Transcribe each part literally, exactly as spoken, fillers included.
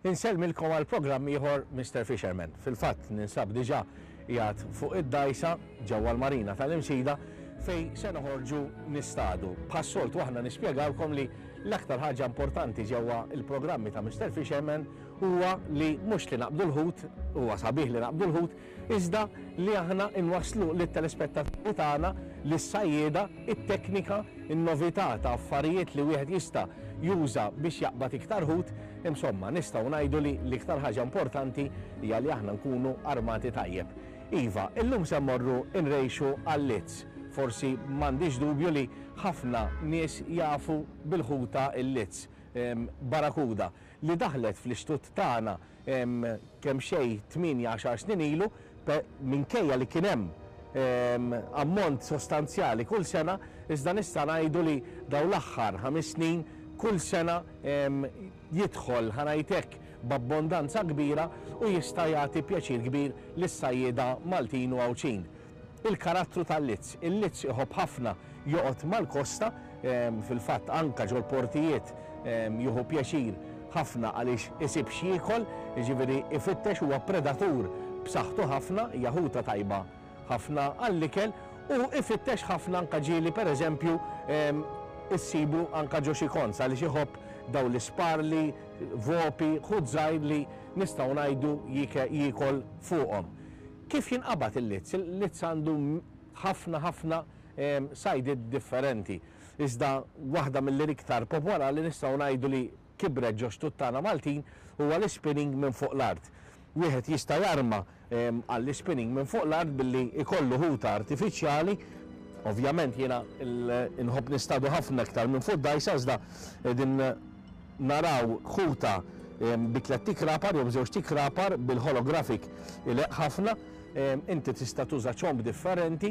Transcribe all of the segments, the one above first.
Insellmilkom għal programm ieħor Mister Fisherman. Fil-fatt ninsab diġà qiegħed fuq id-dgħajsa ġewwa l-Marina tal-Imsida fejn se noħorġu nistadu. Bħas-soltu aħna nispjegawlkom li l-aktar ħaġa importanti ġewwa il-programmi ta' Mister Fisherman huwa li mhux li naqbdu l-ħut, huwa sabiħ li naqbdu l-ħut, iżda li aħna nwasslu lit-telespettaturi tagħna, lis-sajjieda, it-teknika, in-novità ta' affarijiet li wieħed jista' juża biex jaqbad iktar ħut. Insomma, nistgħu ngħidu li l-iktar ħaġa importanti hija li aħna nkunu armati tajjeb. Iva, illum se mmorru nrejxu għal-lizz. Forsi m'għandix dubju li ħafna nies jafu bil-ħuta il-lizz, barakuda, li daħlet fl-ixtut tagħna kemm xejn tmienja għaxar snin ilu, minkejja li kien hemm ammont sostanzjali kull sena, iżda nista' ngħidu li dawn l-aħħar ħames snin kull sena jidħol, ħa ngħid hekk, b'abbondanza kbira u jista' jagħti pjaċir kbir lis-sajjieda Maltin u Għawdxin. Il-karattru tal-lizz. Il-lizz iħobb ħafna joqgħod mal-kosta, fil-fatt anka ġol-portijiet jieħu pjaċir ħafna għaliex isib x'jiekol, jiġifieri ifittex, huwa predatur b'saħħtu ħafna, hija ħuta tajba ħafna għall-ikel u ifittex ħafna anka ġieli pereżempju issibu anka ġo xi konz għaliex iħobb daw l-isparli, vopi, ħut żgħir li nistgħu ngħidu jiekol fuqhom. Kif jinqabad il-lizz? Il-lizz għandu ħafna ħafna sajdiet differenti. Iżda waħda mill-iktar popolari li nistgħu ngħidu li kibret ġo xtut tagħna Maltin huwa l-spinning minn fuq l-art. Wieħed jista' jarma għall-spinning minn fuq l-art billi ikollu ħuta artifiċjali. Ovvjament jiena nħobb nistadu ħafna iktar minn fuq dgħajsa, iżda din naraw ħuta bi tliet tikrapar jew b'żewġ tikrapar bil-holographic ileq ħafna. Inti tista' tuża ċomb differenti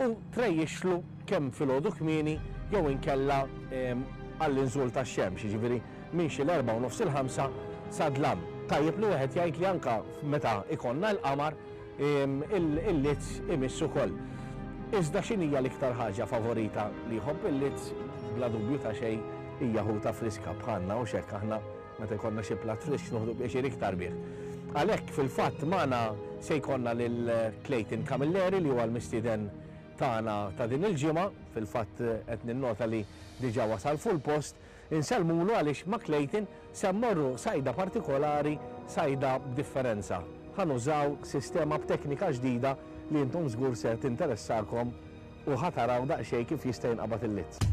u trejjixlu kemm filgħodu kmieni jew inkella għall-inżul tax-xemx, jiġifieri minn xi l-erbgħa u nofs il-ħamsa sa dlam. Tajjeb li wieħed jgħid li anka meta ikollna l-qamar il-lizz imiss ukoll. Iżda x'inhija l-iktar ħaġa favorita li jħobb il-lizz? Bla dubju ta' xejn hija ħuta friska bħalna, u x'hekk aħna meta jkollna xi platt frisk noħdu pjaċir iktar bih. Għalhekk fil-fatt magħna se jkollna lil Clayton Camilleri li huwa l-mistieden tagħna ta' din il-ġimgħa, fil-fatt qed ninnota li diġà wasal fuq il-post. Insellmulu għaliex ma' Clayton se mmorru sajda partikolari, sajda b'differenza. Ħa nużaw sistema b'teknika ġdida li intom żgur se tinteressakom u ħa taraw daqsxejn kif jista' jinqabad il-lizz.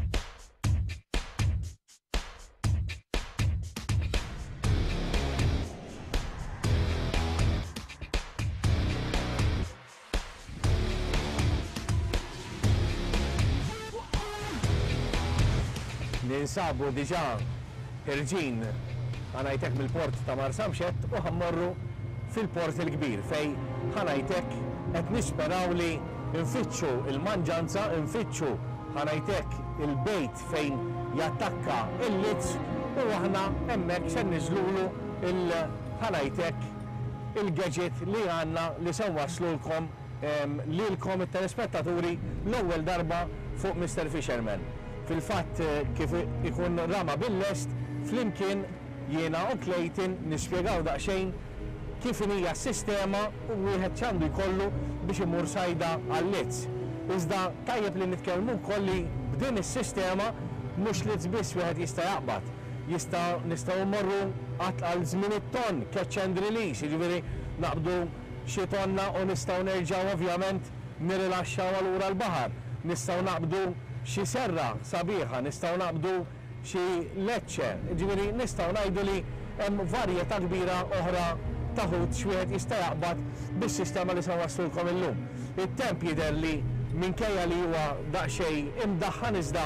Ninsabu diġà ħirġin ħanajtek mill-port ta' Marsamxett u ħammorru fil-port il-kbir fej ħanajtek qed nisperaw li nfittxu il-manġanza, nfittxu ħanajtek il-bejt fejn jattakka il-lizz u aħna hemmhekk se niżlulu il-ħanajtek il-gadget li għandna li se nwaslulkom lilkom it-telespettaturi l-ewwel darba fuq Mister Fisherman. Fil-fatt kif ikun rama bil-lest, flimkien jiena u Clayton nispjegaw daqsxejn kif hija s-sistema u wieħed x'għandu jkollu biex imur sajda għal-lizz. Iżda tajjeb li nitkellmu wkoll li b'din is-sistema mhux lizz biss wieħed jista' jaqbad. Jista' nistgħu mmorru għal żmien it-ton, catch and release, jiġifieri naqbdu xi tonna u nistgħu nerġgħu ovvjament nirilaxxaw allura l-baħar. Nistgħu naqbdu xi serra sabiħa, nistgħu naqbdu xi leċċe, jiġifieri nistgħu ngħidu li hemm varjetà kbira oħra ta' ħut x'wieħed jista' jaqbad bis-sistema li se nwaslulkom illum. It-temp jidher li minkejja li huwa daqsxejn imdaħħan, iżda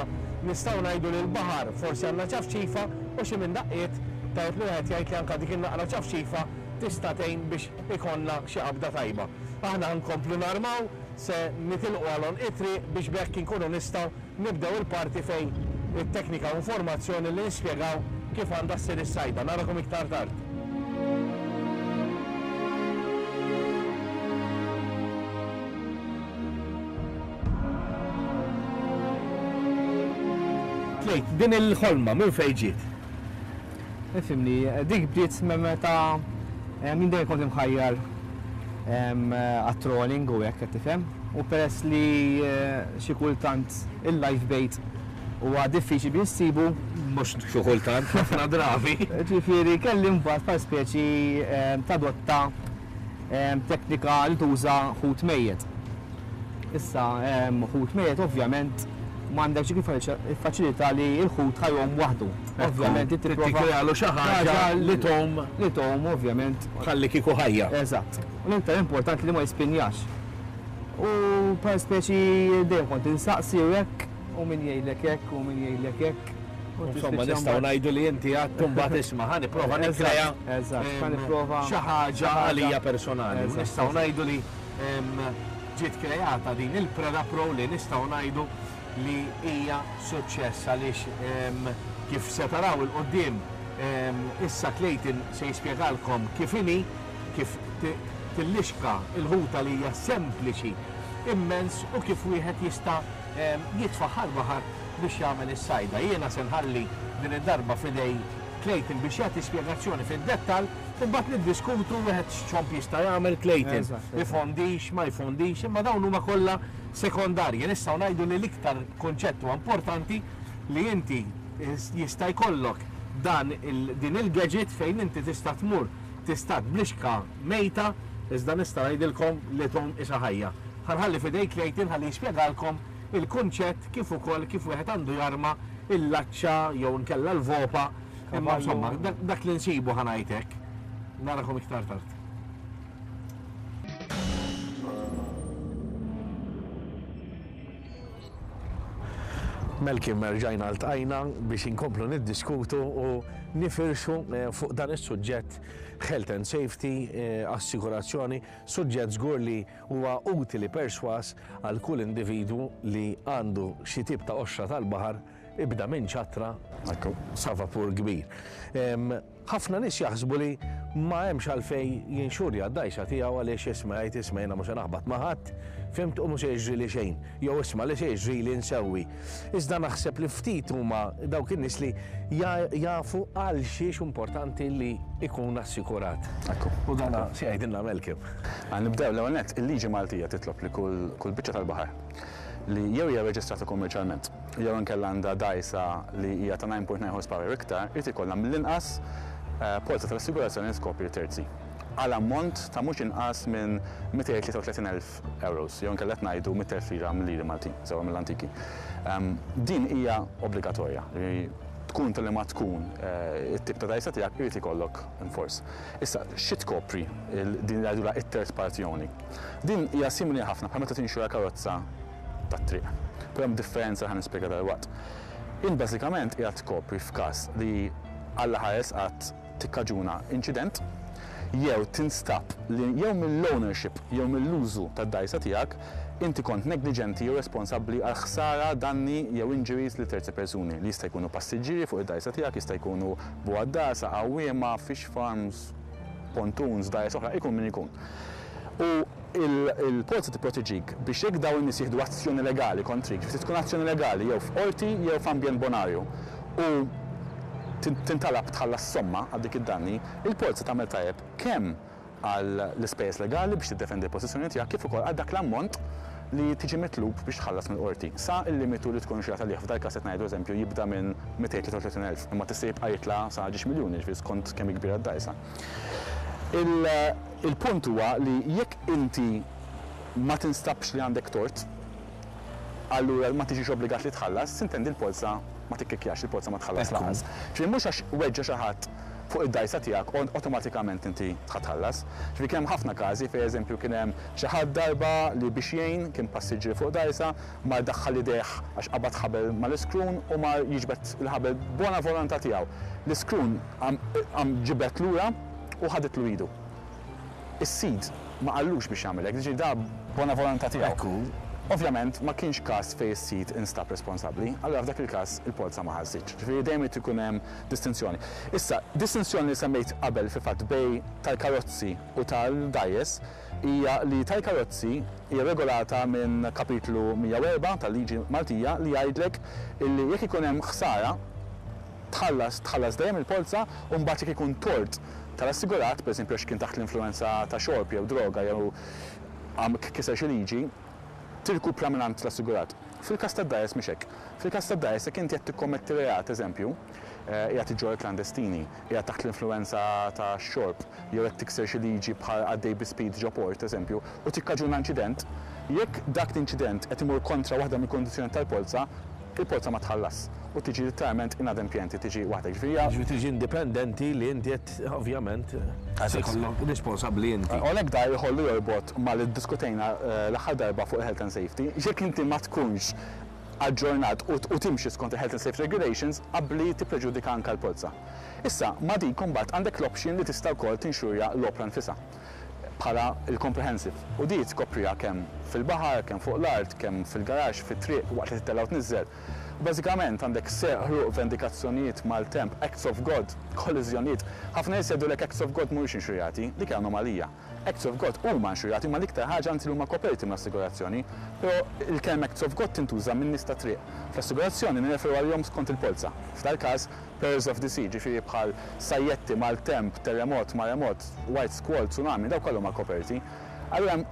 nistgħu ngħidu li l-baħar forsi għandna ċafċifa u xi minn daqqiet tajjeb li wieħed jgħid li anke dik in-naqra ċafċifa tista' tgħin biex ikollna xi qabda tajba. Aħna nkomplu narmaw, se nitilqu għal għonq it-triq biex b'hekk inkunu nistgħu nibdew il-parti fejn it-teknika u informazzjoni li nispjegaw kif għandha ssir is-sajda. Narakom iktar tard. Clayton, din il-ħolma minn fejn ġiet? Ifhimni, dik bdiet meta minn dejjem kont imħajjar għat-trolling u hekk, qed tifhem. U peress li xi kultant il-live bait huwa diffiċli biex issibu. Mhux xi kultant, ħafna drabi. Ġifieri kelli mbagħad bħal speċi tadotta teknika li tuża ħut mejjet. Issa ħut mejjet ovvjament m'għandekx dik il-faċilità li l-ħut ħa jgħum waħdu. Ovvjament tipprova tikkrealu xi ħaġa li tgħum li tgħum ovvjament. Ħalli kieku ħajja. Eżatt. U l-iktar importanti li ma jispinjax. U bħal speċi dejjem kont insaqsi u hekk, u min jgħidlek hekk, u min jgħidlek hekk. Insomma, nistgħu ngħidu li inti għadt mbagħad isma' ħa nipprova nikkrea Eżatt, ħa nipprova xi ħaġa għalija personali. Nistgħu ngħidu li ġiet kreata din il-Preda Pro li nistgħu ngħidu li hija suċċess għaliex kif se taraw il-qoddim issa Clayton se jispjegalkom kif inhi, kif tillixka il-ħuta li hija sempliċi immens u kif wieħed jista' jitfa' l-baħar biex jagħmel is-sajda. Jiena se nħalli din id-darba f'idej Clayton biex jagħti spjegazzjoni fid-dettall u mbagħad niddiskutu wieħed x'ċomp jista' jagħmel Clayton. Ifondix, ma jfondix, imma dawn huma kollha sekondarji. Nistgħu ngħidu li l-iktar kunċett huwa importanti li inti jista' jkollok dan din il-gadget fejn inti tista' tmur tista' blixka mejta, iżda nista' ngħidilkom li tgħum isa ħajja. Ħa nħalli f'idej Clayton ħalli jispjegalkom il-kunċett kif ukoll kif wieħed għandu jarma il-laċċa jew nkella l-vopa. Imma insomma, dak li nsibu ħa ngħidlek. Narakom iktar tard. Malcolm, erġajna ltqajna biex inkomplu niddiskutu u nifirxu fuq dan is-suġġett health and safety, assikurazzjoni, suġġett żgur li huwa utili perswas għal kull individwu li għandu xi tip ta' qoxra tal-baħar ibda minn ċatra sa vapur kbir. Ħafna nies jaħsbu li ma hemmx għalfejn jinxurja d-dajsa tiegħu għaliex isma' jgħid isma' jiena mhux se naħbat ma' ħadd, fimt, u mhux se jiġri li xejn, jew isma' li se jiġri li nsewwi. Iżda naħseb li ftit huma dawk in-nies li jafu għal xiex importanti li ikun assikurat. U dan se jgħidilna Malcolm. Nibdew l-ewwel nett, il-liġi Maltija titlob li kull biċċa tal-baħar li jew hija reġistrata kummerċjalment jew inkella għandha dajsa li hija ta' nine point nine horsepower iktar, irid ikollha mill-inqas polza tal-assigurazzjoni tkopri terzi għal ammont ta' mhux inqas minn mitejn tlieta u tletin elf euros, jew inkella qed ngħidu mitt elf lira mill-liri Maltin, sewwa mill-antiki. Din hija obbligatorja li tkun tal ma tkun it-tip ta' dajsa tiegħek irid ikollok in force. Issa, xi tkopri din li jgħidulha it-third party only? Din hija simili ħafna bħal meta tinxura karozza tat-triq. Però hemm differenza ħa nispjega dalwaqt. In bażikament hija tkopri f'każ li Alla ħares qatt tikkaġuna inċident jew tinstab li jew mill-ownership jew mill-użu tad-dajsa tiegħek inti kont negliġenti jew responsabbli għal ħsara, danni jew injuries li terzi persuni li jista' jkunu passiġġieri fuq id-dajsa tiegħek, jista' jkunu bugħaddasa, għawwiema, fish farms, pontoons, dajs oħra, ikun min ikun. U il-polza tipproteġik biex jekk dawn in-nies jieħdu azzjoni legali kontrik, ġifieri tkun azzjoni legali jew f'qorti jew f'ambjent bonarju u tintalab tħallas somma għal dik id-danni, il-polza tagħmel tajjeb kemm għal l-ispejjeż legali biex tiddefendi l-pożizzjoni tiegħek kif ukoll għal dak l-ammont li tiġi mitlub biex tħallas mill-qorti. Sa il-limitu li tkun xieraq għalih, f'dal każ qed ngħidu eżempju jibda minn mitejn tlieta u tletin elf, imma tista' jibqa' jitla' sa ġiex miljuni, ġifieri skont kemm hi kbira d-dajsa. Il-punt huwa li jekk inti ma tinstabx li għandek tort, allura ma tiġix obbligat li tħallas, sintendi l-polza ma tikkikjax, il-polza ma tħallas lanqas. Ġifieri mhux għax weġġa' xi ħadd fuq id-dajsa tiegħek awtomatikament inti tħallas. Ġifieri kien hemm ħafna każi fejn eżempju kien hemm xi ħadd darba li biex jgħin kien passiġġier fuq dajsa, mar daħħal idejh għax qabad ħabel mal-iskrun u mar jiġbed il-ħabel bona volontà tiegħu. L-iskrun għam ġibed lura u ħaditlu idu. Is-sid ma qallux biex jagħmel hekk, ġifieri da bona volontà tiegħu. Ekku. Ovvjament ma kienx każ fejn is-sid instab responsabbli, allura f'dak il-każ il-polza ma ħassitx. Ġifieri dejjem irid ikun hemm distinzjoni. Issa, distinzjoni li semmejt qabel fil-fatt bej tal-karozzi u tal-dajjes hija li tal-karozzi hija regolata minn kapitlu mija u erbgħa tal-liġi Maltija li jgħidlek illi jekk ikun hemm ħsara Tħallas, tħallas dejjem il-polza u mbagħad jekk ikun tort tal-assigurat, pereżempju għax kien taħt l-influenza ta' xorb jew droga jew kiser xi liġi, tirkupra mingħand l-assigurat. Fil-każ tad-dgħajjes mhix hekk. Fil-każ tad-dgħajjes jekk inti qed tikkommetti reat, eżempju, qiegħed iġġorr klandestini, qiegħed taħt l-influenza ta' xorb, jew qed tikser xi liġi bħal għaddej bi speed ġo port, eżempju, u tikkaġuna inċident, jekk dak l-inċident qed imur kontra waħda mill-kundizzjoni tal-polza, il-polza ma tħallas u tiġi literalment inadempjenti, tiġi waħdek. Ġifieri tiġi indipendenti li inti qed ovvjament se jkollok responsabbli inti. U għalhekk da jħollu jorbot ma li ddiskutejna l-aħħar darba fuq il-health and safety, jekk inti ma tkunx aġġornat u timxi skont il-health and safety regulations qabli tippreġudika anke l-polza. Issa, ma dik imbagħad għandek l-option li tista' wkoll tinxurja l-opra nfisha bħala il-comprehensive. U di tkopriha kemm fil-baħar, kemm fuq l-art, kemm fil-garaxx, fit-triq, waqt li tittella' u tniżżel. Bażikament għandek serq, ħruq, vendikazzjonijiet, maltemp, acts of God, kolliżjonijiet. Ħafna nies jgħidulek acts of God mhumiex inxurjati, dik hija anomalija. Acts of God huma inxurjati, ma l-iktar ħaġa anzi li huma koperti mill-assigurazzjoni, però il-kelma acts of God tintuża minn nies ta' triq. Fl-assigurazzjoni nirreferu għalihom skont il-polza. F'dal każ perils of the sea, ġifieri bħal sajjetti, maltemp, terremot, maremot, white squall, tsunami, daw kollha huma koperti. Allura hemm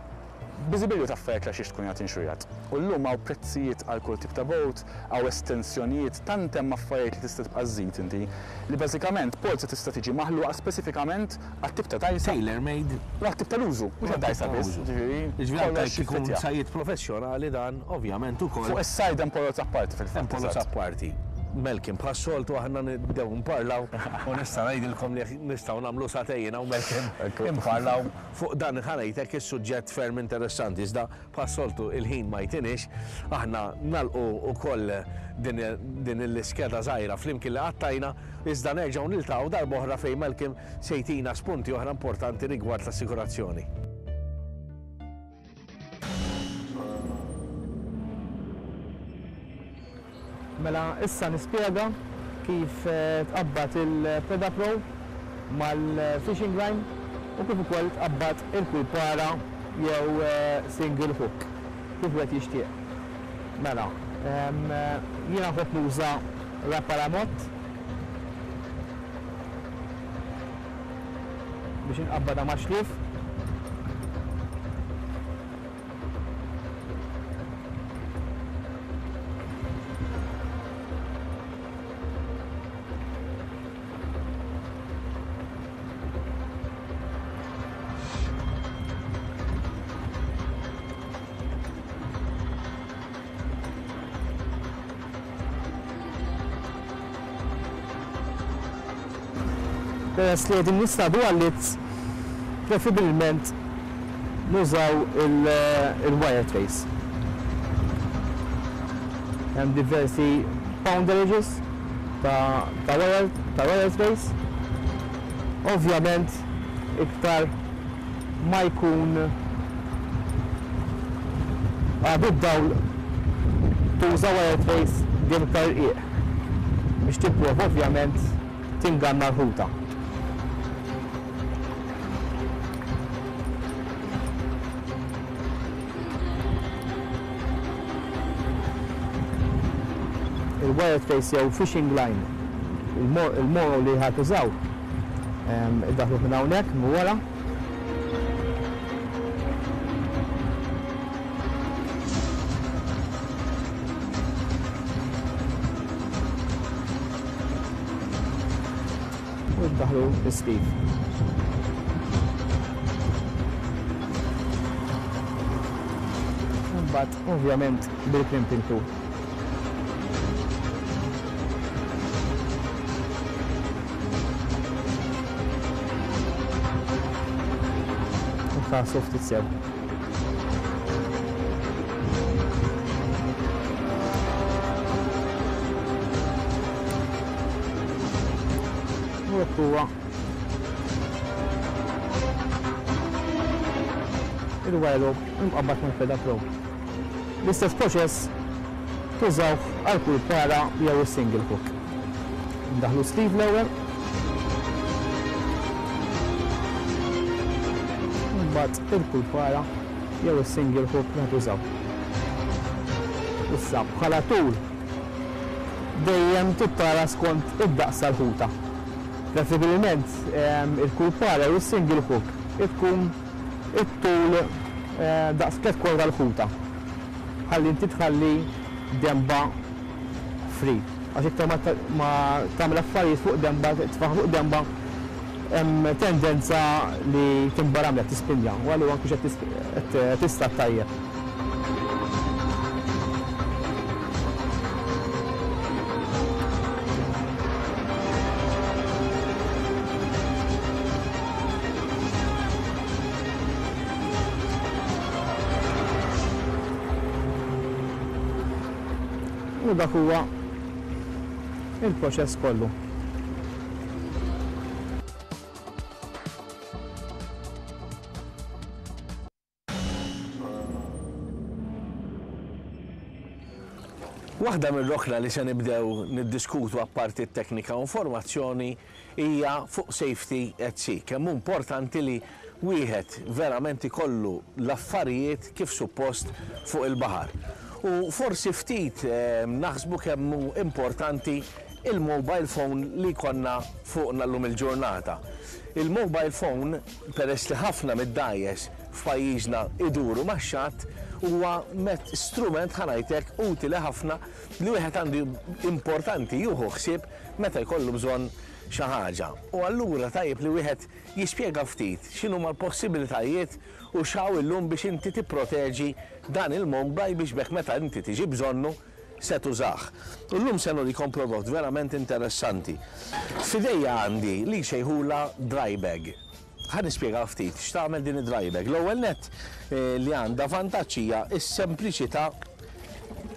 biżibilju ta' affarijiet li għax tkun qed inxurjat. U llum hawn prezzijiet għal kull tip ta' boat, hawn estensjonijiet, tant hemm affarijiet li tista' tibqa' żżid inti, li bażikament polza tista' tiġi maħluqa speċifikament għat-tip ta' dgħajsa. Tailor made. U għat-tip tal-użu, mhux għad-dgħajsa biss. Ġifieri, Ġifieri anke kollox jekk ikun jiffitja. sajjied professjonali dan, ovvjament ukoll. Fuq is-sajd hemm polza apparti fil-fatt. Hemm polza apparti. Malcolm, bħas-soltu aħna nibdew nparlaw u nista' ngħidilkom li nistgħu nagħmlu sagħtejn hawn Malcolm imparlaw fuq dan ħa ngħidlek is-suġġett ferm interessanti, iżda bħas-soltu il-ħin ma jtinix, aħna nagħlqu wkoll din, din l-iskeda żgħira flimkien li qattajna, iżda nerġgħu niltaqgħu darb'oħra fejn Malcolm se jtina spunti oħra importanti rigward l-assikurazzjoni. Mela issa nispjega kif, eh, tqabbad il-Preda Pro mal-fishing line u kif ukoll tqabbad il-kulpara jew, eh, single hook kif wieħed jixtieq. Mela, em, jiena nħobb nuża Rapala Moth biex inqabbadha ma' xlief. Peress li qegħdin nistadu għallit, preferibilment nużaw il-wire trace. Hemm diversi pounderages ta', ta' wire, ta' wire trace. Ovvjament iktar ma jkun għadu d-dawl tuża wire trace dejjem iktar irqiq biex tipprova ovvjament tinganna l-ħuta. Il-wire trace jew fishing line, il-mono li ħa tużaw, ehm, iddaħlu minn hawnhekk minn wara. U ddaħlu l-sleeve. Imbagħad ovvjament bil-crimping tool. Tħarsu ftit sew. U hekk huwa il-wire rope imqabbad mal-Preda Pro. L-istess proċess tużawh għal kull para jew is-single hook. Ndaħlu sleeve l-ewwel. Imbagħad il-kulpara jew is-single hook li tużaw. Issa bħala tul Dejjem tittara skont id-daqs tal-ħuta. Preferibilment il-kulpara u s-single hook tkun it-tul daqs tliet kwarti tal-ħuta. Ħalli inti tħalli demba free. Għax iktar ma tagħmel affarijiet fuq demba, tfaħ fuq demba, hemm tendenza li timbaramlek, tispinja, u allura anke qed tista' tajjeb. U dak huwa il-proċess kollu. Waħda mir-rokna li se nibdew niddiskutu apparti t-teknika u informazzjoni hija fuq safety at sea. Kemm hu importanti li wieħed verament ikollu l-affarijiet kif suppost fuq il-baħar. U forsi ftit naħsbu kemm hu importanti il-mobile phone li konna fuqna llum il-ġurnata. Il-mobile phone, peress li ħafna mid-dgħajjes f'pajjiżna iduru max-xatt, huwa strument ħanajtek utili ħafna li wieħed għandu importanti juhu ħsieb meta jkollu bżonn xi ħaġa. U allura tajjeb li wieħed jispjega ftit x'inhuma l-possibilitajiet u x'hawn illum biex inti tipproteġi dan il-mobile biex bekk meta inti tiġi bżonnu se tużah. U llum se nurikom prodott verament interessanti. F'idejja għandi li xejħula dry bag. Ħa nispjega ftit x'tagħmel din id-dry bag. L-ewwel nett li għandha vantaġġ hija s-sempliċità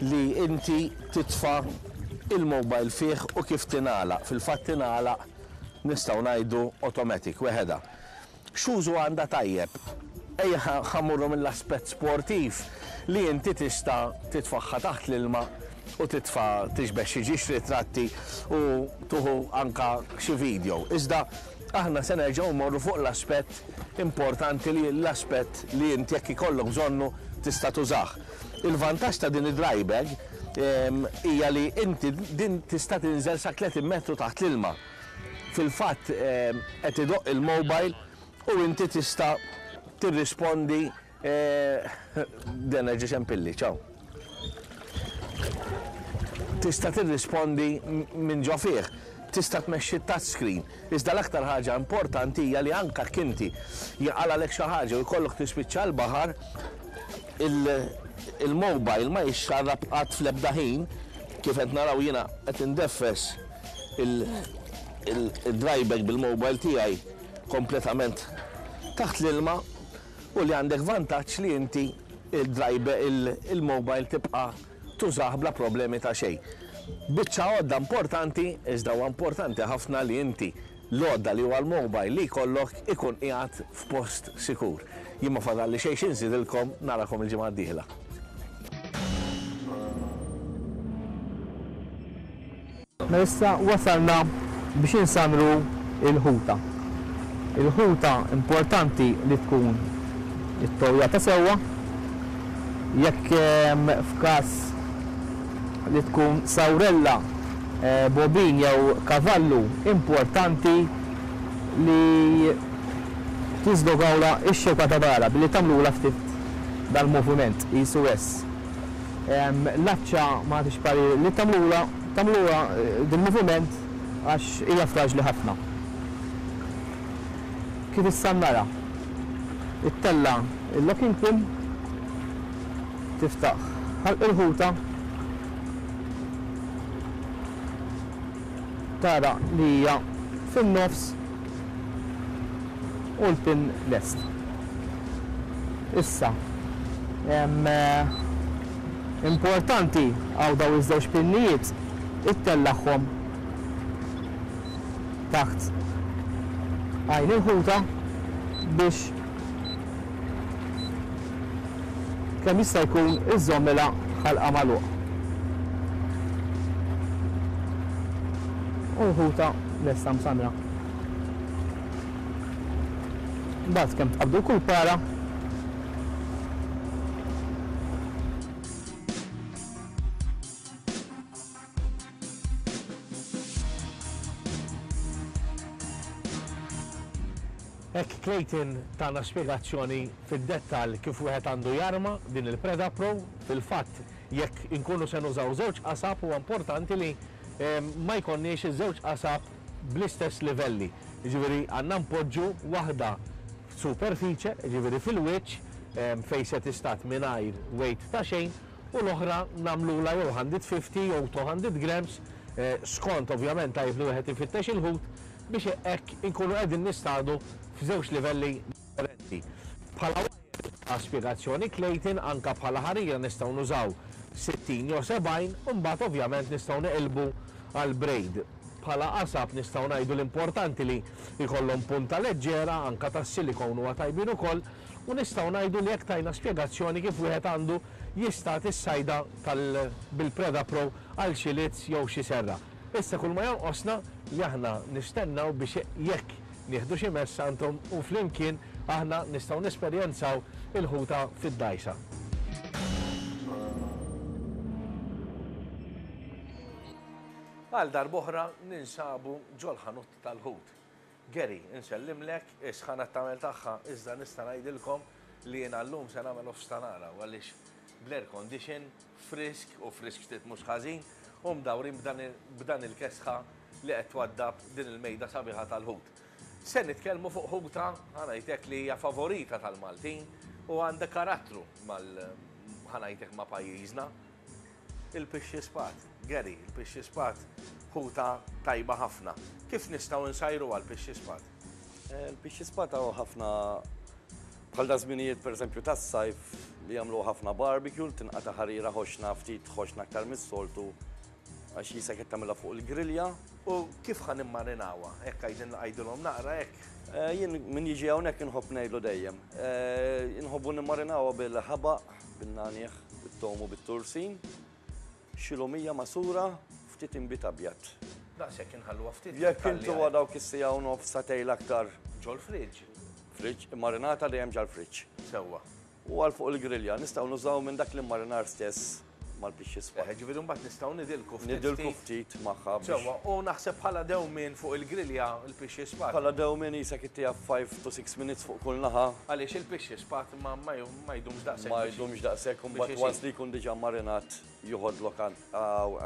li inti titfa' il-mobile fih u kif tingħalaq. Fil-fatt tingħalaq nistgħu ngħidu automatic weħeda. X'użu għandha tajjeb? Ejja ħammurru mill-aspett sportiv li inti tista' titfaħħa taħt l-ilma u titfa' tixbeh xi ġiex ritratti u tuħu anka xi video. Iżda aħna se nerġgħu mmorru fuq l-aspett importanti li l-aspett li inti jekk ikollok bżonnu tista' tużah. Il-vantaġġ ta' din id-dry bag hija li inti din tista' tinżel sa tletin metru taħt l-ilma. Fil-fatt qed idoqq il-mobile u inti tista' tirrispondi den ġi xempilli, ċaw. Tista' tirrispondi minn ġo fih, tista' tmexxi touch screen. Iżda l-aktar ħaġa importanti hija li anke inti jaqalgħalek xi ħaġa u jkollok tispiċċa l-baħar, il-mobile ma jixxarrab qatt fl-ebda ħin, kif qed naraw jiena qed indeffes il-dry bag bil-mobile tiegħi kompletament taħt l-ilma, u li għandek vantaġġ li inti il-mobile tibqa' tużah bla problemi ta' xejn. Biċċa għodda importanti, iżda huwa importanti ħafna li inti l-għodda li huwa l-mobile li jkollok ikun qiegħed f'post sikur. Jien ma fadalli xejn xi nżidilkom, narakom il-ġimgħa d-dieħla. Mela issa wasalna biex insamru il-ħuta. Il-ħuta importanti li tkun it-towja ta' sewwa, jekk f'każ li tkun sawrella, bobin jew kavallu, importanti li tiżdogawla x-xewka ta' dara billi tagħmlula ftit dal-moviment qisu S. L-aċċa ma tix parir li tagħmlula tagħmluha dil-moviment għax hija fraġli ħafna. Kif issa nara, ittella il-locking pin, tiftaħ ħalq il-ħuta, tara li hija fin-nofs u l-pin lest. Issa, importanti għaw daw iż-żewġ pinnijiet ittellaħħom taħt għajn il-ħuta biex kemm jista' jkun iżommilha ħalqa magħluq. U l-ħuta lesta msamra. Mbagħad kemm tqabdu kull para Hekk Clayton tana spjegazzjoni fid-dettall kif wieħed għandu jarma din il-Preda Pro. Fil-fatt jekk inkunu se nużaw żewġ qasab huwa importanti li ma jkollniex iż-żewġ qasab bl-istess livelli. Jiġifieri għandna npoġġu waħda superfiċe, jiġifieri fil-wiċċ fejn se tistat mingħajr weight ta' xejn, u l-oħra nagħmlulha jew one fifty jew two hundred grams, skont ovvjament tajjeb li wieħed ifittex il-ħut biex hekk inkunu qegħdin nistadu f'żewġ livelli differenti. Bħala ta' spjegazzjoni Clayton, anka bħala ħarira nistgħu nużaw sittin jew sebgħin, u mbagħad ovvjament nistgħu neqilbu għal braid. Bħala qasab nistgħu ngħidu l-importanti li jkollhom punta leġġera, anka tas-silikon huwa tajbin ukoll, u nistgħu ngħidu li jekk tajna spjegazzjoni kif wieħed għandu jistat is-sajda bil-Preda Pro għal xi lizz jew xi serra. Issa kull ma jonqosna li aħna nistennaw biex jekk nieħdu xi mess għandhom u flimkien aħna nistgħu nesperjenzaw il-ħuta fid-dajsa. Għal darb'oħra ninsabu ġol-ħanut tal-ħut. Gary, insellimlek, is-sħana tagħmel tagħha, iżda nista' ngħidilkom li jiena llum se nagħmel offstanara għaliex bl-air condition, frisk u frisk ftit mhux ħażin, u mdawrin b'dan il-kesħa li qed twaddab din il-mejda sabiħa tal-ħut. Se nitkellmu fuq ħuta, ħa ngħidlek li hija favorita tal-Maltin u għandha karattru mal ħa ngħidlek ma' pajjiżna. Il-pixxi spat, Gary, il-pixxi spat ħuta tajba ħafna. Kif nistgħu nsajru għal pixxi spat? Il-pixxi spat hawn ħafna bħal da żminijiet pereżempju tas-sajf li jagħmlu ħafna barbecue, tinqata' ħarira ħoxna ftit ħoxna aktar mis-soltu għax jisek qed tagħmilha fuq il-grilja. U kif ħa nimmarinawha? Hekk qegħdin ngħidulhom naqra hekk? Jien min jiġi hawnhekk inħobb ngħidlu dejjem. Inħobbu nimmarinawha bil-ħabaq, bin-nagħnieh, bit-tomu, bit-tursin, xi lumija masura, ftit inbid abjad. Daqshekk inħalluha ftit. Jekk intuha dawk is-siegħa u nofs sagħtejn aktar. Ġol-friġġ. Friġġ, immarinata dejjem ġol-friġġ. Sewwa. U għal fuq il-grilja nistgħu nużaw minn dak l-immarinar stess mal-pixxi spat. Eħe, ġifieri mbagħad nistgħu nidilku ftit. Nidilku ftit magħha biex Sewwa, u naħseb bħala dewmien fuq il-grilja il-pixxi spat. Bħala dewmien jisek ittieha five to six minutes fuq kull naħa. Għaliex il-pixxi spat ma, ma ju-, ma jdumx daqshekk Ma biex jdumx daqshekk, u biex mbagħad isir. once li jkun diġà marinat joħodlok an-,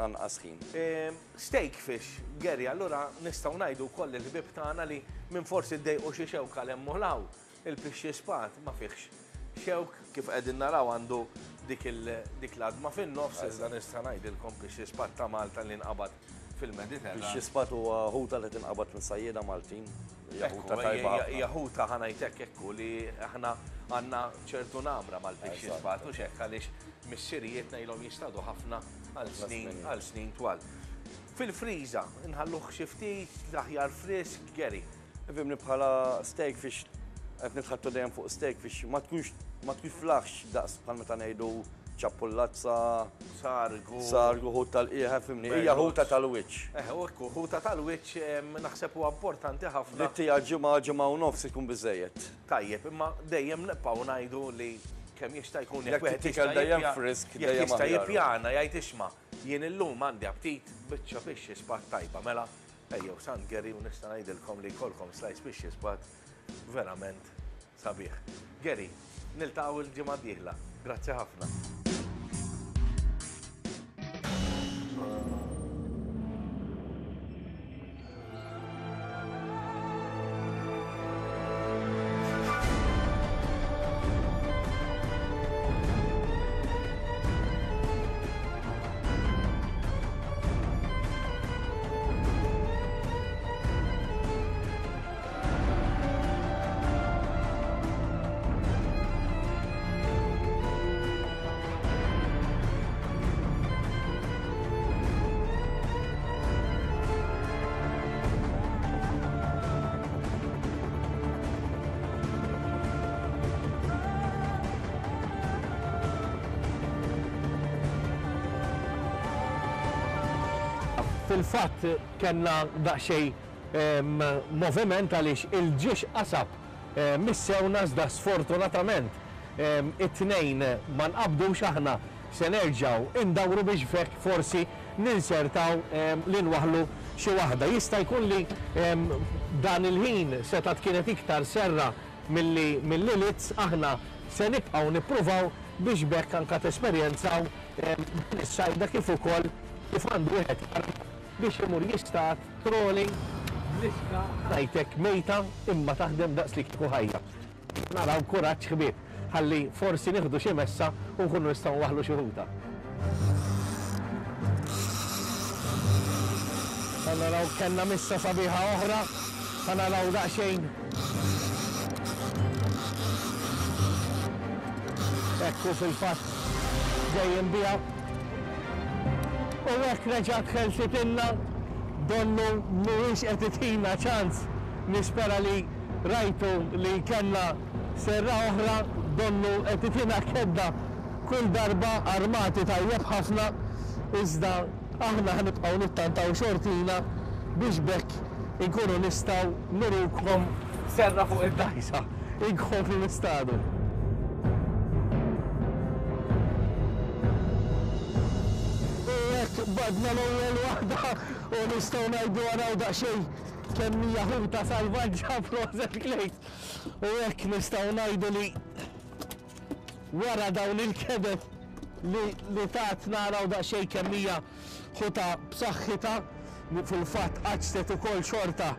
anqas ħin. Ehm, steak fish, Gary, allura nistgħu ngħidu wkoll il-ħbieb tagħna li minn forsi ddejqu xi xewka l hemm u l hawn, il-pixxi spat ma fihx xewk, kif qegħdin naraw għandu dik il-, dik l-għadma fin-nofs, iżda nista' ngħidilkom pixxi spat ta' Malta li nqabad fil-Mediterran. Pixxi spat huwa ħuta li tinqabad minn sajjieda Maltin. Hija Ekku, ħuta tajba hija, ħafna. hija ħuta ħa ngħidlek ekku li aħna għandna ċertu namra mal-pixxi Eżatt. spat u x'hekk għaliex missirijietna ilhom jistadu ħafna għal Ħafna snin, snin. għal snin twal. Fil-friża nħalluh xi ftit l-aħjar frisk, Gary. Ifhimni bħala steak fish qed nitħattu dejjem fuq steak fish ma tkunx, ma tkunx flaħx daqs bħal meta ngħidu ċappullazza, sargu, sargu, ħut tal-qiegħ, fimni, hija Berluzz. ħuta tal-wiċċ. Eh, u ekku, ħuta tal-wiċċ, em, naħseb huwa importanti ħafna. Li tija ġimgħa, ġimgħa u nofs ikun biżejjed. Tajjeb, imma dejjem nibqgħu ngħidu li kemm jista' jkun Jekk jekk wieħed tittikel jista' dejjem jipja- frisk, jekk dejjem jista' aħjar. jippjana jgħid isma' jien illum għandi aptit biċċa pixxi spat tajba, mela ejjew San Gary u nista' ngħidilkom li jkollkom slice pixxi spat verament sabiħ. Gary, niltaqgħu l-ġimgħa d-dieħla. Grazzi ħafna. Fil-fatt kellna daqsxejn, em, moviment għaliex il-ġiex qasab, em, missewna iżda sfortunatament, em, it-tnejn ma nqabdux, aħna se nerġgħu indawru biex fekk forsi ninsertaw, em, li nwaħlu xi waħda. Jista' jkun li, em, Dan il-ħin setgħet kienet iktar serra milli mill-lilitz, aħna se nibqgħu nippruvaw biex bekk anka tesperjenzaw din is-sajda kif ukoll kif għandu wieħed biex imur jistad trolling bl-iska ngħidlek mejta imma taħdem daqs li kieku ħajja. Naraw kuraġġ ħbieb ħalli forsi nieħdu xi messa u nkunu nistgħu nwaħħlu xi ħuta. Naraw kellna missa sabiħa oħra, naraw daqsxejn. Ekku fil-fatt ġejjin biha. U hekk reġgħet ħelsitilna, donnu mhuwiex qed itina ċans. Nispera li rajtu li kellna serra oħra, donnu qed itina kedda kull darba armati tajjeb ħafna, iżda aħna ħanibqgħu nittantaw xortina biex bekk inkunu nistgħu nurukom serra fuq id-dajsa, inkomplu nistadu. U hekk badna l-ewwel waħda u nistgħu ngħidu araw daqsxejn kemm hija ħuta salvaġġa proset Klejt. U hekk nistgħu ngħidu li wara dawn il-kedet li, li tat naraw daqsxejn kemm hija ħuta b'saħħitha, fil-fatt qaċtet ukoll xorta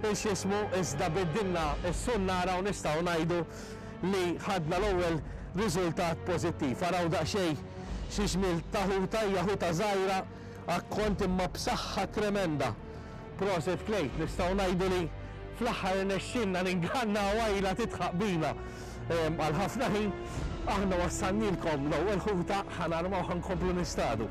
x'ismu, iżda biddilna s-sunnara u nistgħu ngħidu li ħadna l-ewwel riżultat pożittiv. Araw daqsxejn xi ġmiel ta' ħuta, hija ħuta żgħira akkont imma b'saħħa tremenda. Proset Klejt, nistgħu ngħidu li fl-aħħar irnexxielna ninganna għajla titħaq bina għal ħafna ħin. Aħna wassannilkom l-ewwel ħuta, ħanarmaw ħankomplu nistadu.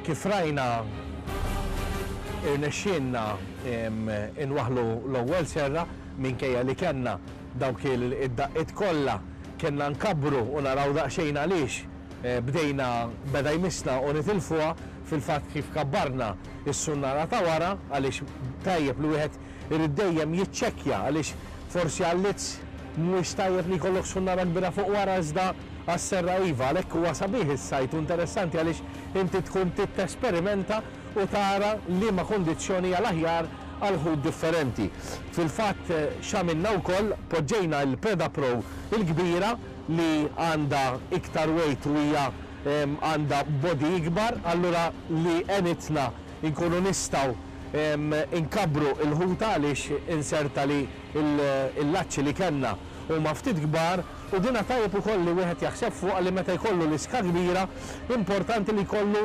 Kif rajna irnexxielna inwaħħlu l-ewwel serra minkejja li kellna dawk id-daqqiet kollha, kellna nkabbru u naraw daqsxejn għaliex bdejna beda jmissna u nitilfuha. Fil-fatt kif kabbarna is-sunnara ta' wara, għaliex tajjeb li wieħed irid dejjem jiċċekkja għaliex forsi għall-lizz mhuwiex tajjeb li jkollok sunnara kbira fuq wara iżda għas-serra iva. Għalhekk huwa sabiħ is-sajt u interessanti għaliex inti tkun titesperimenta u tara liema kundizzjoni għal aħjar għal ħut differenti. Fil-fatt x'għamilna wkoll, poġġejna l-Preda Pro il-kbira li għandha iktar weight u hija għandha body ikbar, allura li għenitna nkunu nistgħu inkabbru il-ħuta għaliex inserta li il-laċċi li kellna huma ftit kbar, u dina tajjeb ukoll li wieħed jaħseb fuq li meta jkollu l-iska kbira importanti li jkollu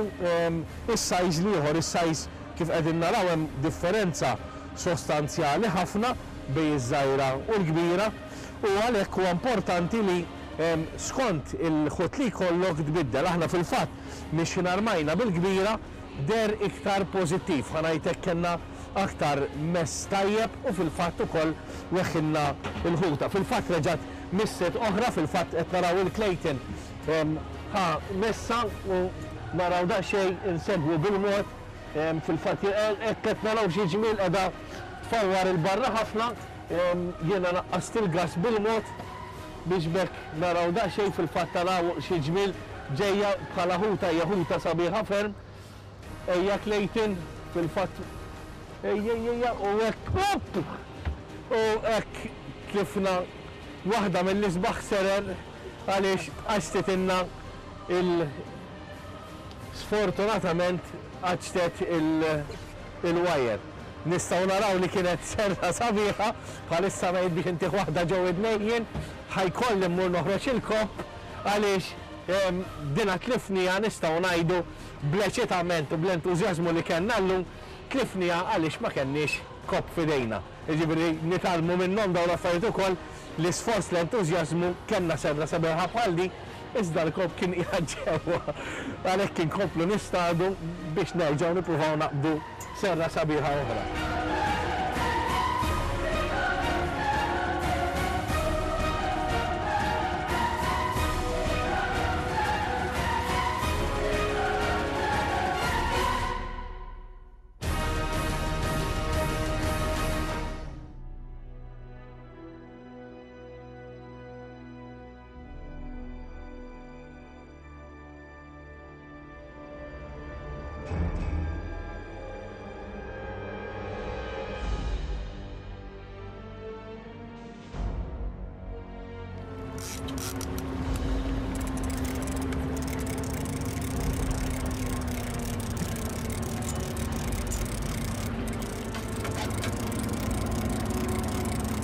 is-size l-ieħor, is-size kif qegħdin naraw hemm differenza sostanzjali ħafna bejn iż-żgħira u l-kbira, u għalhekk huwa importanti li skont il-ħut li jkollok tbiddel. Aħna fil-fatt mixin armajna bil-kbira der iktar pożittiv, ħa ngħidlek kellna aktar mess tajjeb u fil-fatt ukoll weħħilna l-ħuta. Fil-fatt reġgħet misset oħra, fil-fatt qed naraw il-Clayton ħa messa u naraw daqsxejn insegwu bil-mod. Fil-fatt hekk qed naraw xi ġmiel qiegħda tfawwar il-barra ħafna, jiena naqqast il-gas bil-mod biex bekk naraw daqsxejn. Fil-fatt naraw xi ġmiel ġejja bħala ħuta, hija ħuta sabiħa ferm. Ejja Clayton, fil-fatt ejja ejja u hekk u hekk tlifna waħda mill-isbaħ serer għaliex qaċtetilna il sfortunatament qaċtet il-wire. Nistgħu naraw li kienet serra sabiħa, bħalissa ngħid biex intih waħda ġew id-nejjin, ħajkolli mmur noħroġ il-kopp għaliex dina tlifnija nistgħu ngħidu bl-eċitament u bl-entużjażmu li kellna llum, tlifnija għaliex ma kenniex kopp f'idejna. Jiġifieri nitgħallmu minnhom dawn l-affarijiet ukoll, l-isforz, l-entużjażmu, kellna serra sabiħa bħal di, iżda l-kopp kien qiegħed ġewwa. Għalhekk inkomplu nistadu biex nerġgħu nippruvaw naqbdu serra sabiħa oħra.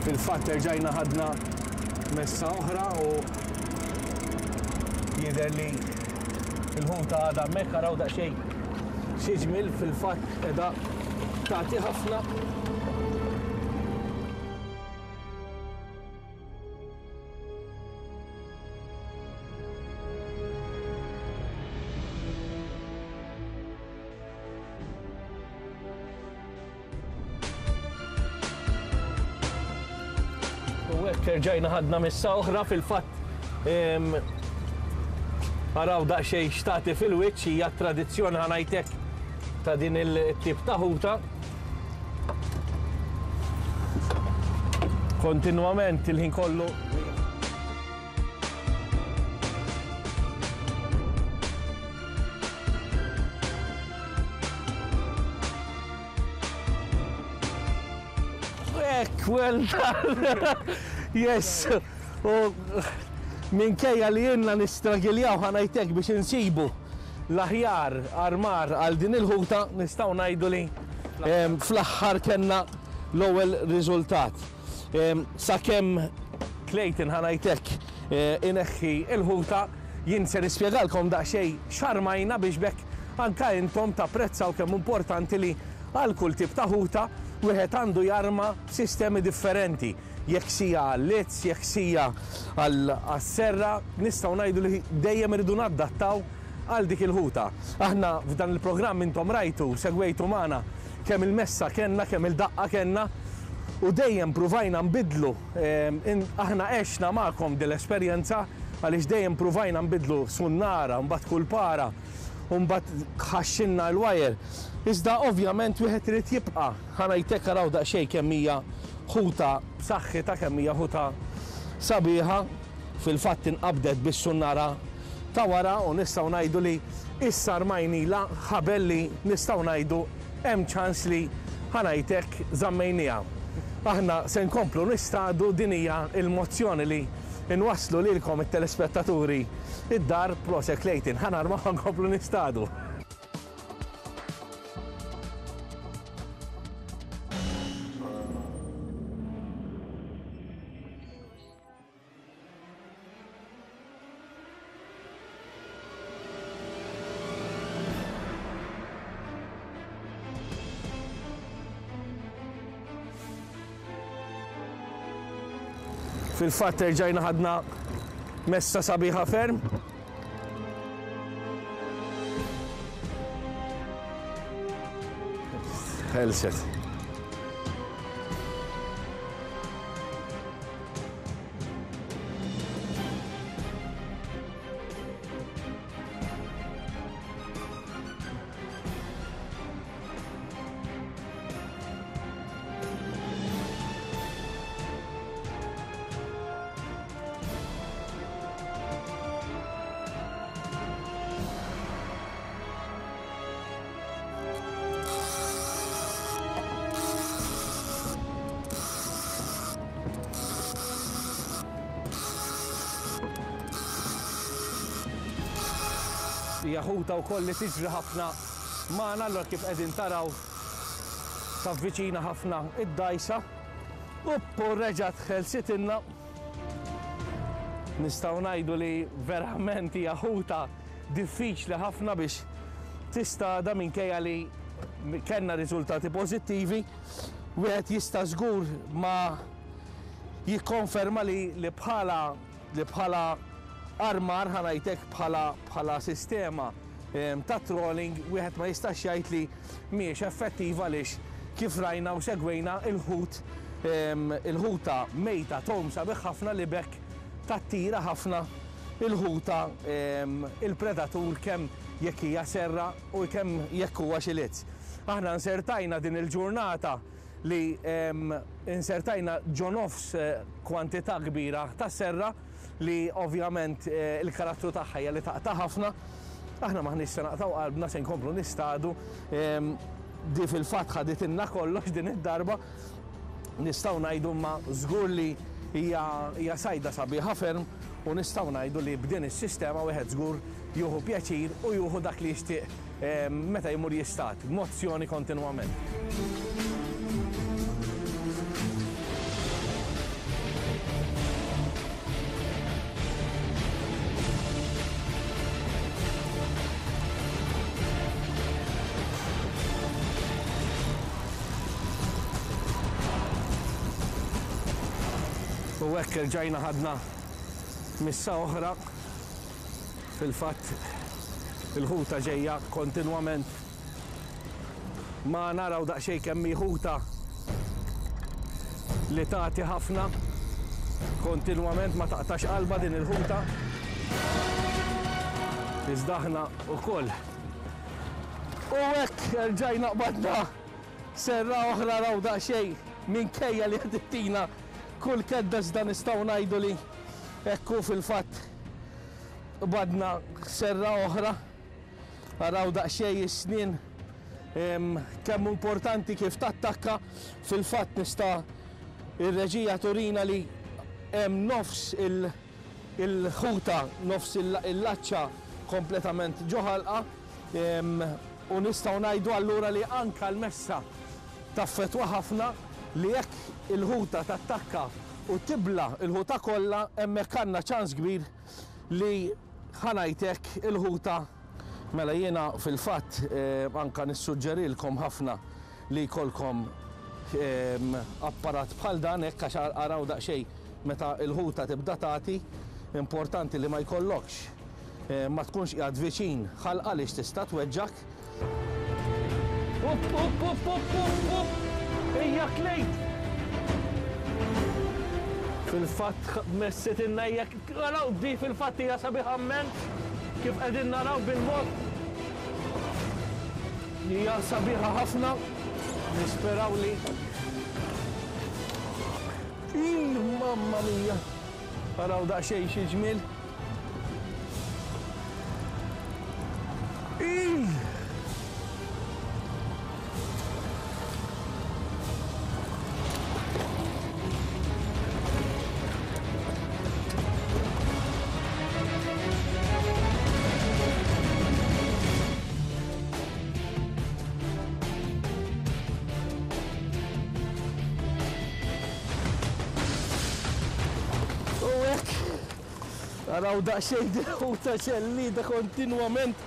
Fil-fatt erġajna ħadna messa oħra u jidher li l-ħuta għadha hemmhekk, araw daqsxejn xi ġmiel fil-fatt qiegħda tagħti ħafna. U hekk erġajna ħadna missa oħra fil-fatt araw daqsxejn xtati fil-wiċċ, hija tradizzjoni ħanajtek ta' din il-tip ta' ħuta. Kontinwament il-ħin kollu. Hekk, well done. Yes. U minkejja li jenna nistragiljaw ħanajtek biex insibu l-aħjar armar għal din il-ħuta, nistgħu ngħidu li fl-aħħar kellna l-ewwel riżultat. Sakemm Clayton ħanajtek ineħħi il-ħuta, jien se nispjegalkom daqsxejn x'armajna biex bekk anka intom tapprezzaw kemm importanti li għal kull tip ta' ħuta wieħed għandu jarma sistemi differenti. Jekk sija għall-lizz, jekk sija għall-serra, nistgħu ngħidu li dejjem irridu nadattaw għal dik il-ħuta. Aħna f'dan il-programm intom rajtu, segwejtu magħna kemm il-messa kellna, kemm il-daqqa kellna, u dejjem pruvajna nbidlu. Aħna għexna magħkom din l-esperjenza għaliex dejjem pruvajna nbidlu sunnara, mbagħad kull para, u mbagħad ħaxxinna l-wajer. Iżda ovvjament wieħed irid jibqa' ħanajtek araw daqsxejn kemm hija ħuta b'saħħitha, kemm hija ħuta sabiħa, fil-fatt inqabdet bis-sunnara ta' wara u nistgħu ngħidu li issa rmajnila ħabel li nistgħu ngħidu hemm ċans li ħanajtek żammejniha. Aħna se nkomplu nistadu, din hija l-mozzjoni li nwasslu lilkom it-telespettaturi id-dar. Proset Clayton, ħanarmaw nkomplu nistadu. Fil-fatt erġajna ħadna messa sabiħa ferm. Ħelset. Hija ħuta wkoll li tiġri ħafna magħna, allura kif qegħdin taraw tavviċina ħafna id-dajsa u reġgħet ħelsitilna. Nistgħu ngħidu li verament hija ħuta diffiċli ħafna biex tistada minkejja li kellna riżultati pożittivi. Wieħed jista' żgur ma jikkonferma li li bħala li bħala armar ħanajtek bħala bħala sistema ta' trolling wieħed ma jistax jgħid li mhijiex effettiva għaliex kif rajna u segwejna il-ħut il-ħuta mejta tom sabiħ ħafna li bekk tattira ħafna il-ħuta il-predatur kemm jekk hija serra u kemm jekk huwa xi lizz. Aħna nsertajna din il-ġurnata li insertajna ġo nofs kwantità kbira ta' serra li ovvjament il-karattru tagħha hija li taqta' ħafna. Aħna maħniex se naqtgħu qalbna, se nkomplu nistadu. Di fil-fatt ħaditilna kollox din id-darba. Nistgħu ngħidu ma żgur li hija sajda sabiħa ferm u nistgħu ngħidu li b'din is-sistema wieħed żgur jieħu pjaċir u jieħu dak li jixtieq meta jmur jistad, mozzjoni kontinwament. U hekk irġajna ħadna missa oħra. Fil-fatt il-ħuta ġejja kontinwament ma naraw daqsxejn kemm hi ħuta li tagħti ħafna kontinwament, ma taqtax qalba din il-ħuta. Iżda aħna wkoll. U hekk erġajna qbadna serra oħra, raw daqsxejn minkejja li qed ittina kull kedda, iżda nistgħu ngħidu li hekk hu fil-fatt badna serra oħra. Araw daqsxejn is-snien kemm importanti kif tattakka. Fil-fatt nista' ir-reġija turina li hemm nofs il-ħuta, nofs il-laċċa kompletament ġo ħalqa, u nistgħu ngħidu allura li anka l-messa taffetwa ħafna, li jekk il-ħuta tattakka u tibla il-ħuta kollha, hemmhekk għandna ċans kbir li ħanajtek il-ħuta. Mela jiena fil-fatt anka nissuġġerilkom ħafna li jkollkom apparat bħal dan hekk, għax araw daqsxejn meta l-ħuta tibda tagħti, importanti li ma jkollokx, ma tkunx qiegħed viċin ħalqa għaliex tista' tweġġak. Up, up, up, up, up, up! Ejja klejt! Fil-fatt messet inna hija, araw di fil-fatt hija sabiħa mmens kif qegħdin naraw bil-mod. Hija sabiħa ħafna, nisperaw li. Ih, mamma mia! Araw daqsxejn xi ġmiel. Ih! Araw daqsxejn ħuta ċellida kontinwament.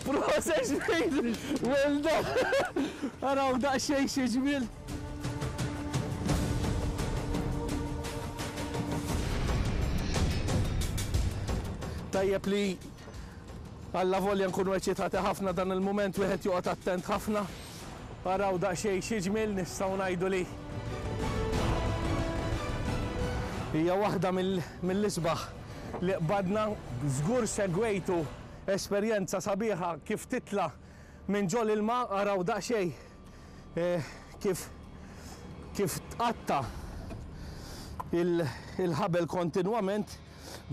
Proset ġmiel, well done. Araw daqsxejn xi ġmiel. Tajjeb li alla volja nkunu eċitati ħafna dan il-mument, wieħed joqgħod attent ħafna. Araw daqsxejn xi ġmiel, nistgħu ngħidu li hija waħda mill-isbaħ li qbadna. Żgur segwejtu esperjenza sabiħa kif titla minn ġol ilma. Araw daqsxejn kif kif tqatta il-ħabel kontinwament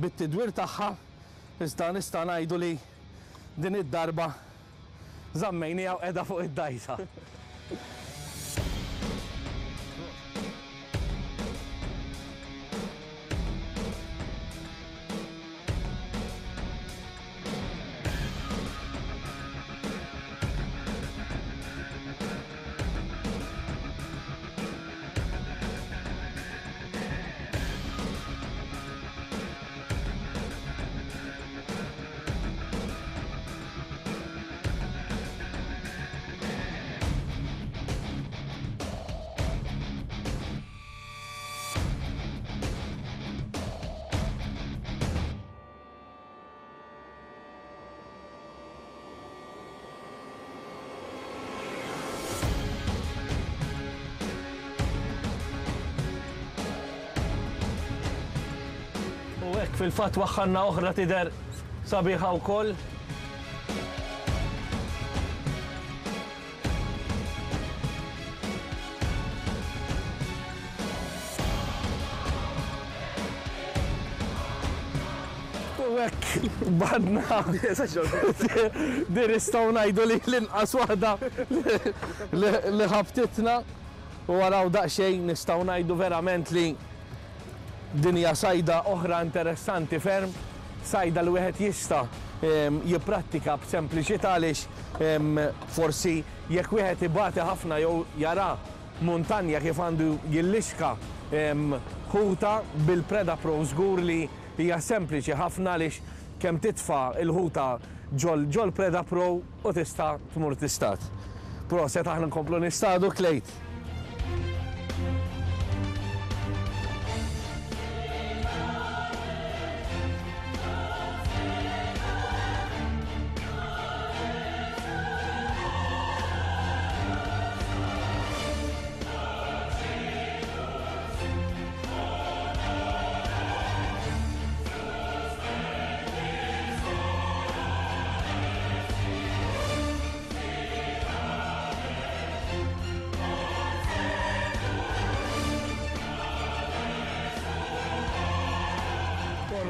bit-tidwir tagħha. Iżda nista' ngħidu li din id-darba żammejniha u qiegħda fuq id-dajsa. Fil-fatt waħħanna oħra tidher sabiħa wkoll. U U hekk badna. Din nistgħu ngħidu li l-inqas waħda li ħabtitna. U waraw daqsxejn nistgħu ngħidu verament li din hija sajda oħra interessanti ferm, sajda li wieħed jista' jipprattika b'sempliċità għaliex forsi jekk wieħed ibati ħafna jew jara muntanja kif għandu jillixka ħuta bil-Preda Pro żgur li hija sempliċi ħafna għaliex kemm titfa' il-ħuta ġol ġol Preda Pro u tista' tmur tistad. Proset, aħna nkomplu nistadu Klejt.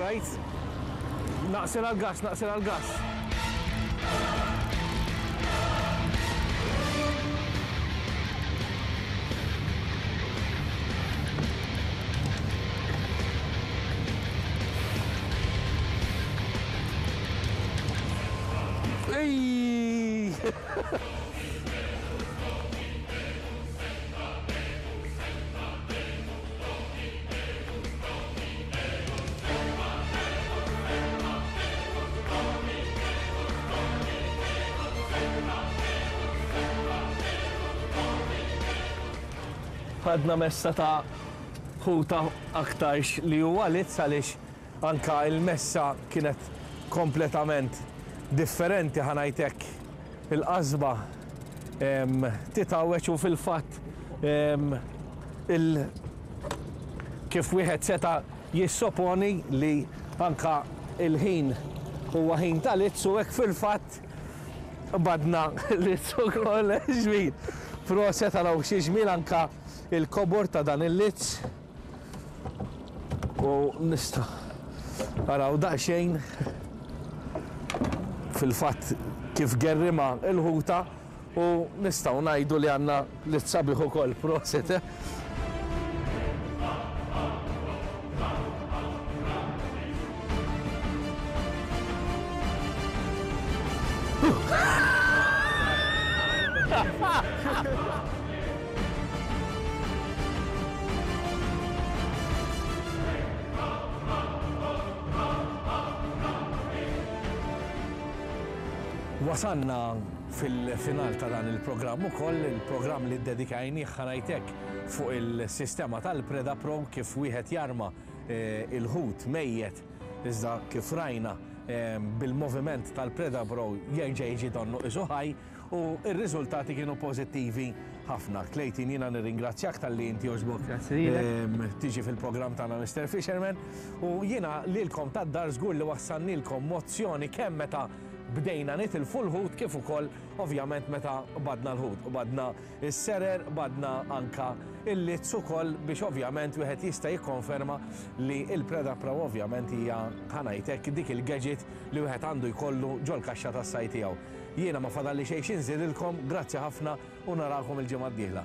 Right. Naqsel għal-gas, naqsel għal-gas. Ej! Għadna messa ta' ħuta aktarx li huwa lizz għaliex anka il-messa kienet kompletament differenti ħanajtek il-qasba titgħawweġ u fil-fatt il kif wieħed seta' jissoponi li anka il-ħin huwa ħin ta' lizz u hekk fil-fatt badna lizz ukoll ġmil. Proset għalaw xi ġmil anka il-kobor ta' dan il-lizz u nista' araw daqsxejn fil-fatt kif gerrima il-ħuta u nistgħu ngħidu li għandna lizz sabiħ ukoll. Proset. Wasanna fil-final ta' dan il-programm ukoll, il-programm li ddedikajnih ħanajtek fuq il-sistema tal-Preda Pro kif wieħed jarma il-ħut mejjet iżda kif rajna bil-moviment tal-Preda Pro jerġa' jiġi donnu qisu ħaj u r-riżultati kienu pożittivi ħafna. Clayton, jiena nirringrazzjak talli inti għoġbok tiġi fil-programm tagħna Mister Fisherman u jiena lilkom tad-dar żgur li wassannilkom mozzjoni kemm meta bdejna nitilfu l-ħut kif ukoll ovvjament meta badna l-ħut, badna s-serer, badna anka il-lizz ukoll biex ovvjament wieħed jista' jikkonferma li l-Preda Pro ovvjament hija ħanajtek dik il-gadget li wieħed għandu jkollu ġol-kaxxa tas-sajd tiegħu. Jiena ma fadalli xejn xi nżidilkom, grazzi ħafna u narakom il-ġimgħa d-dieħla.